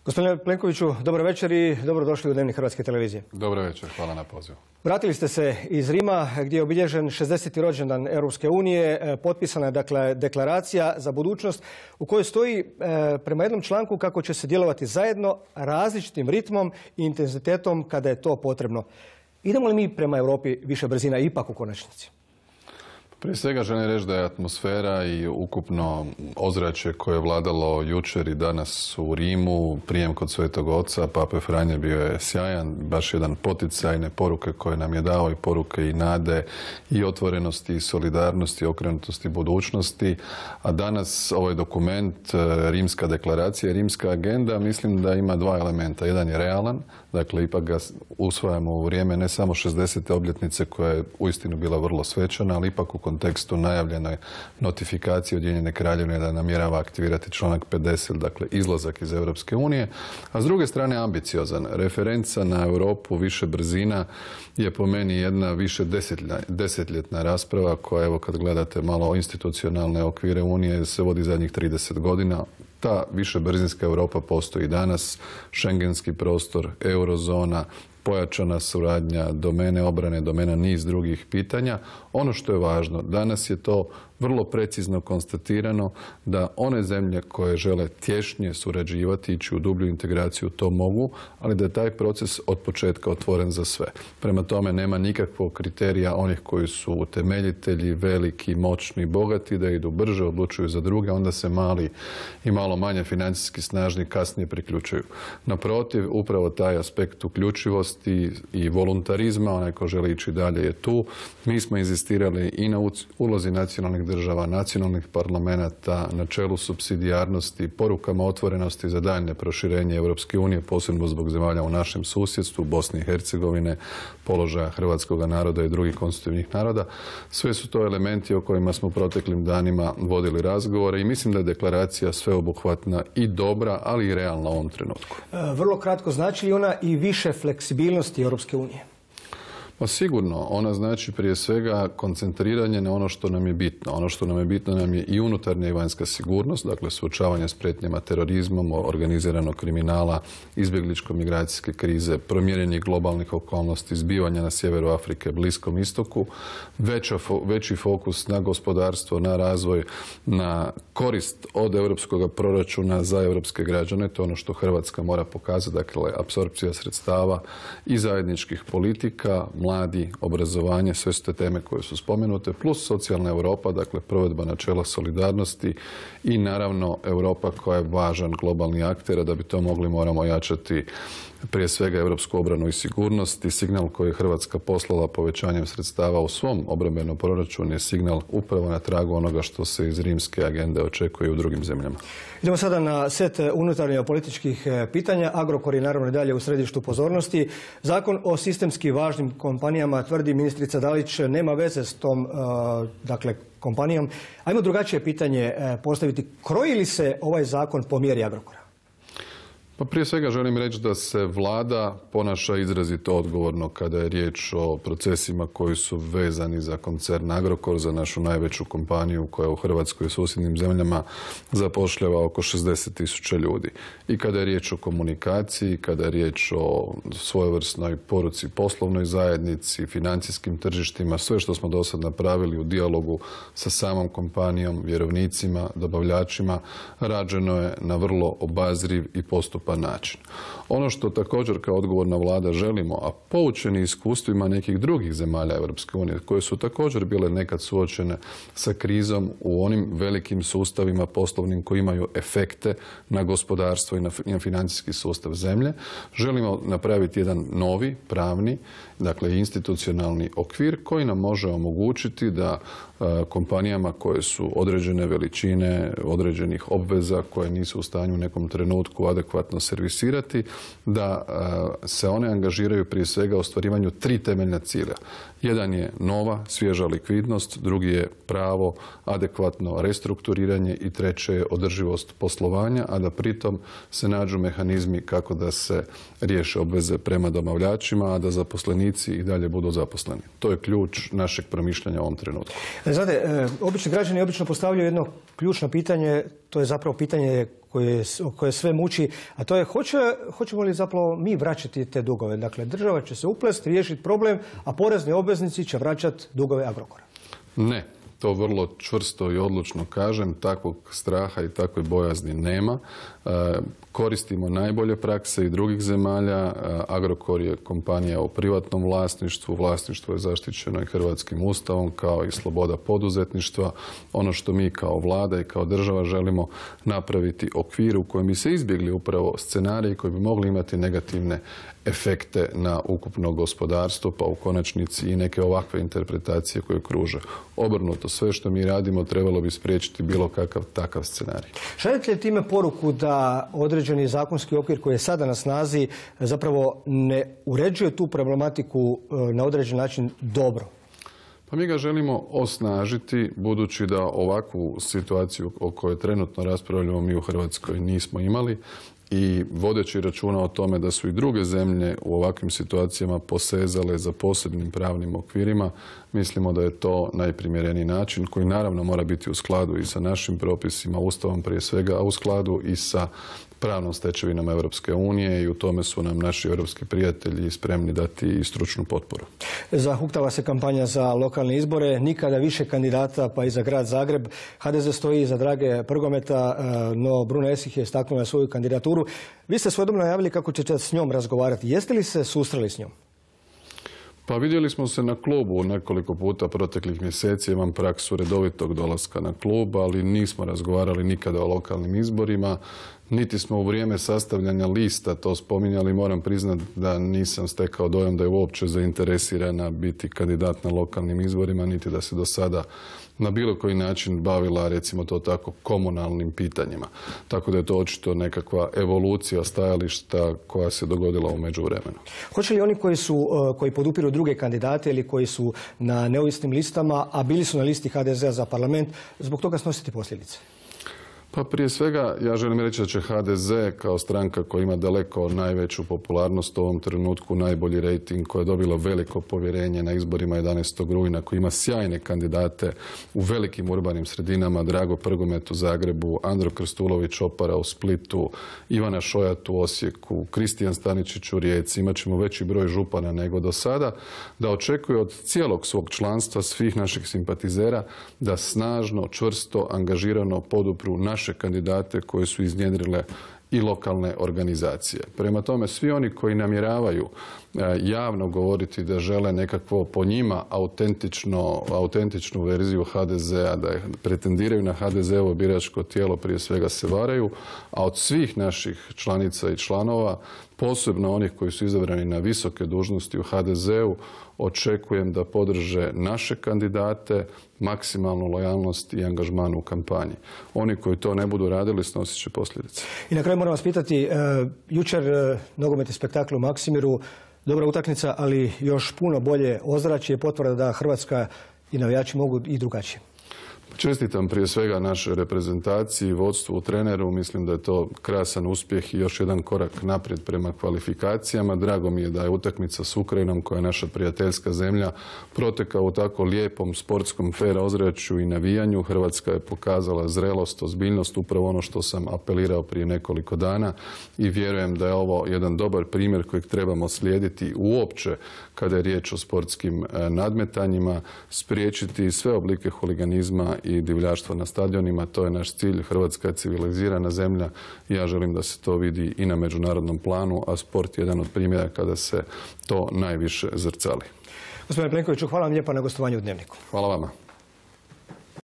Gospodine Plenkoviću, dobro večer i dobrodošli u Dnevnik Hrvatske televizije. Dobro večer, hvala na pozivu. Vratili ste se iz Rima gdje je obilježen 60. rođendan Europske unije. Potpisana je dakle deklaracija za budućnost u kojoj stoji prema jednom članku kako će se djelovati zajedno različitim ritmom i intenzitetom kada je to potrebno. Idemo li mi prema Europi više brzina ipak u konačnici? Prije svega želim reći da je atmosfera i ukupno ozračje koje je vladalo jučer i danas u Rimu, prijem kod Svetog Oca, Pape Franje bio je sjajan, baš jedan poticajne poruke koje nam je dao i poruke i nade i otvorenosti i solidarnosti, okrenutosti budućnosti. A danas ovaj dokument, Rimska deklaracija, Rimska agenda, mislim da ima dva elementa. Jedan je realan, dakle ipak ga usvajamo u vrijeme ne samo 60. obljetnice koja je uistinu bila vrlo svečana, ali ipak u kontekstu najavljene notifikacije Ujedinjene Kraljevine da namjerava aktivirati članak 50, dakle izlazak iz Europske unije, a s druge strane ambiciozan. Referenca na Europu više brzina je po meni jedna više desetljetna rasprava koja, evo kad gledate malo institucionalne okvire Unije, se vodi zadnjih 30 godina. Ta višebrzinska Europa postoji danas, šengenski prostor, eurozona, pojačana suradnja, domene obrane, domena niz drugih pitanja. Ono što je važno, danas je to vrlo precizno konstatirano da one zemlje koje žele tješnje surađivati, ići u dublju integraciju, to mogu, ali da je taj proces od početka otvoren za sve. Prema tome nema nikakvog kriterija onih koji su utemeljitelji, veliki, moćni, bogati, da idu brže, odlučuju za druge, onda se mali i malo manje financijski snažni kasnije priključuju. Naprotiv, upravo taj aspekt uključivosti i voluntarizma, onaj ko želi ići dalje je tu. Mi smo inzistirali i na ulozi nacionalnih država, nacionalnih parlamenta, načelu supsidijarnosti, porukama otvorenosti za daljnje proširenje Europske unije, posebno zbog zemalja u našem susjedstvu, Bosne i Hercegovine, položaja hrvatskog naroda i drugih konstitutivnih naroda. Sve su to elementi o kojima smo proteklim danima vodili razgovore i mislim da je deklaracija sveobuhvatna i dobra, ali i realna u ovom trenutku. Vrlo kratko, znači li ona i više fleksibilnosti Europske unije? Pa sigurno, ona znači prije svega koncentriranje na ono što nam je bitno. Ono što nam je bitno nam je i unutarnja i vanjska sigurnost, dakle suočavanje s prijetnjama terorizmom, organiziranog kriminala, izbjegličko-migracijske krize, promijenjenih globalnih okolnosti, zbivanja na sjeveru Afrike, Bliskom istoku, veći fokus na gospodarstvo, na razvoj, na korist od europskog proračuna za europske građane. To je ono što Hrvatska mora pokazati, dakle apsorpcija sredstava i zajedničkih politika, mladi, obrazovanje, sve su te teme koje su spomenute, plus socijalna Europa, dakle provedba načela solidarnosti i naravno Europa koja je važan globalni akter, a da bi to mogli moramo jačati prije svega europsku obranu i sigurnost i signal koji je Hrvatska poslala povećanjem sredstava u svom obrambenom proračunu je signal upravo na tragu onoga što se iz Rimske agende očekuje u drugim zemljama. Idemo sada na set unutarnjih političkih pitanja. Agrokor je naravno i dalje u središtu pozornosti. Zakon o sistemski važnim kompanijama, tvrdi ministrica Dalić, nema veze s tom kompanijom. Ajmo drugačije pitanje postaviti. Kroji li se ovaj zakon po mjeri Agrokora? Pa prije svega želim reći da se vlada ponaša izrazito odgovorno kada je riječ o procesima koji su vezani za koncern Agrokor, za našu najveću kompaniju koja u Hrvatskoj i susjednim zemljama zapošljava oko 60.000 ljudi. I kada je riječ o komunikaciji, kada je riječ o svojevrsnoj poruci poslovnoj zajednici, financijskim tržištima, sve što smo do sad napravili u dijalogu sa samom kompanijom, vjerovnicima, dobavljačima, rađeno je na vrlo obazriv i postupan način. Ono što također kao odgovorna vlada želimo, a poučeni iskustvima nekih drugih zemalja Europske unije, koje su također bile nekad suočene sa krizom u onim velikim sustavima poslovnim koji imaju efekte na gospodarstvo i na financijski sustav zemlje, želimo napraviti jedan novi, pravni, dakle institucionalni okvir koji nam može omogućiti da kompanijama koje su određene veličine, određenih obveza koje nisu u stanju u nekom trenutku adekvatno servisirati, da se one angažiraju prije svega u ostvarivanju 3 temeljna cilja. Jedan je nova, svježa likvidnost, drugi je pravo, adekvatno restrukturiranje i treće je održivost poslovanja, a da pritom se nađu mehanizmi kako da se riješe obveze prema dobavljačima, a da zaposlenici i dalje budu zaposleni. To je ključ našeg promišljanja u ovom trenutku. Znate, obični građani obično postavljaju jedno ključno pitanje, to je zapravo pitanje koje sve muči, a to je hoćemo li zapravo mi vraćati te dugove. Dakle, država će se uplesti, riješiti problem, a porezni obveznici će vraćati dugove Agrokora. Ne. To vrlo čvrsto i odlučno kažem, takvog straha i takve bojazni nema. Koristimo najbolje prakse i drugih zemalja. Agrokor je kompanija u privatnom vlasništvu. Vlasništvo je zaštićeno i Hrvatskim ustavom, kao i sloboda poduzetništva. Ono što mi kao vlada i kao država želimo napraviti okvir u kojem bi se izbjegli upravo scenariji koji bi mogli imati negativne efekte na ukupno gospodarstvo, pa u konačnici i neke ovakve interpretacije koje kruže. Obrnuto, sve što mi radimo trebalo bi spriječiti bilo kakav takav scenarij. Šaljete li time poruku da određeni zakonski okvir koji je sada na snazi zapravo ne uređuje tu problematiku na određen način dobro? Pa mi ga želimo osnažiti, budući da ovakvu situaciju o kojoj trenutno raspravljamo mi u Hrvatskoj nismo imali, i vodeći računa o tome da su i druge zemlje u ovakvim situacijama posezale za posebnim pravnim okvirima, mislimo da je to najprimjereniji način koji naravno mora biti u skladu i sa našim propisima, Ustavom prije svega, a u skladu i sa pravnom stečevinom Europske unije, i u tome su nam naši europski prijatelji spremni dati i stručnu potporu. Zahuktava se kampanja za lokalne izbore, nikada više kandidata, pa i za grad Zagreb. HDZ stoji iza Drage Prgometa, no Bruno Esih je istaknula svoju kandidaturu. Vi ste svojedobno najavili kako ćete s njom razgovarati. Jeste li se susreli s njom? Pa vidjeli smo se na klubu nekoliko puta proteklih mjeseci, imam praksu redovitog dolaska na klub, ali nismo razgovarali nikada o lokalnim izborima, niti smo u vrijeme sastavljanja lista to spominjali. Moram priznati da nisam stekao dojam da je uopće zainteresirana biti kandidat na lokalnim izborima, niti da se do sada na bilo koji način bavila, recimo to tako, komunalnim pitanjima. Tako da je to očito nekakva evolucija stajališta koja se dogodila u međuvremenu. Hoće li oni koji podupiru druge kandidate ili koji su na neovisnim listama, a bili su na listi HDZ-a za parlament, zbog toga snositi posljedice? Pa prije svega ja želim reći da će HDZ kao stranka koja ima daleko najveću popularnost u ovom trenutku, najbolji rejting, koja je dobila veliko povjerenje na izborima 11. rujna, koji ima sjajne kandidate u velikim urbanim sredinama, Drago Prgomet u Zagrebu, Andro Krstulović Opara u Splitu, Ivana Šojat u Osijeku, Kristijan Staničić u Rijeci. Imat ćemo veći broj župana nego do sada, da očekuje od cijelog svog članstva, svih naših simpatizera, da snažno, čvrsto, angažirano podupru naše kandidate koje su iznjedrile i lokalne organizacije. Prema tome, svi oni koji namjeravaju javno govoriti da žele nekakvo po njima autentičnu verziju HDZ-a, da pretendiraju na HDZ-ovo biračko tijelo, prije svega se varaju, a od svih naših članica i članova, posebno onih koji su izabrani na visoke dužnosti u HDZ-u, očekujem da podrže naše kandidate, maksimalnu lojalnost i angažman u kampanji. Oni koji to ne budu radili snosit će posljedice. I na kraju moram vas pitati, jučer nogometni spektakl u Maksimiru, dobra utakmica, ali još puno bolje ozračje, potvrda da Hrvatska i navijači mogu i drugačije. Čestitam prije svega našoj reprezentaciji, vodstvu, treneru. Mislim da je to krasan uspjeh i još jedan korak naprijed prema kvalifikacijama. Drago mi je da je utakmica s Ukrajinom, koja je naša prijateljska zemlja, protekla u tako lijepom sportskom fer ozračju i navijanju. Hrvatska je pokazala zrelost, ozbiljnost, upravo ono što sam apelirao prije nekoliko dana, i vjerujem da je ovo jedan dobar primjer kojeg trebamo slijediti uopće kada je riječ o sportskim nadmetanjima, spriječiti sve oblike huliganizma i divljaštva na stadionima. To je naš cilj. Hrvatska je civilizirana zemlja i ja želim da se to vidi i na međunarodnom planu, a sport je jedan od primjera kada se to najviše zrcali. Gospodine Plenkoviću, hvala vam lijepa na gostovanju u Dnevniku. Hvala vama.